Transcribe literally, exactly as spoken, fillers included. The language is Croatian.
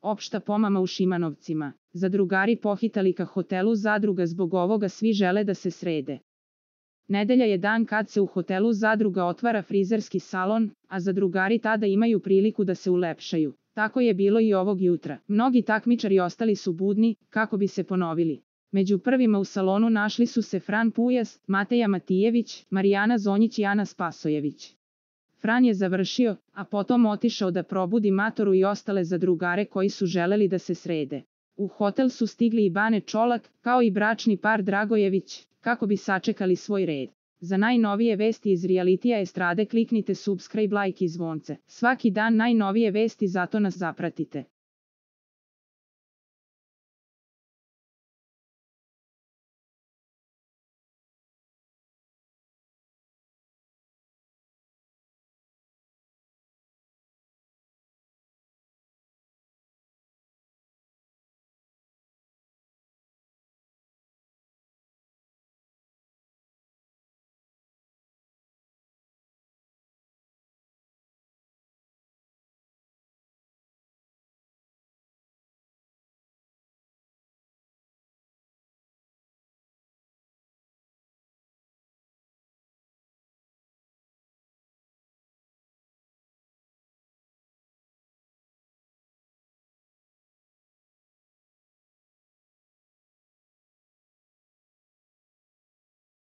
opšta pomama u Šimanovcima. Zadrugari pohitali ka hotelu Zadruga, zbog ovoga svi žele da se srede. Nedelja je dan kad se u hotelu Zadruga otvara frizerski salon, a zadrugari tada imaju priliku da se ulepšaju. Tako je bilo i ovog jutra. Mnogi takmičari ostali su budni, kako bi se ponovili. Među prvima u salonu našli su se Fran Pujas, Mateja Matijević, Marijana Zonjić i Ana Spasojević. Fran je završio, a potom otišao da probudi Matoru i ostale zadrugare koji su želeli da se srede. U hotel su stigli i Bane Čolak, kao i bračni par Dragojević, kako bi sačekali svoj red. Za najnovije vesti iz realitija estrade kliknite subscribe, like i zvonce. Svaki dan najnovije vesti, zato nas zapratite.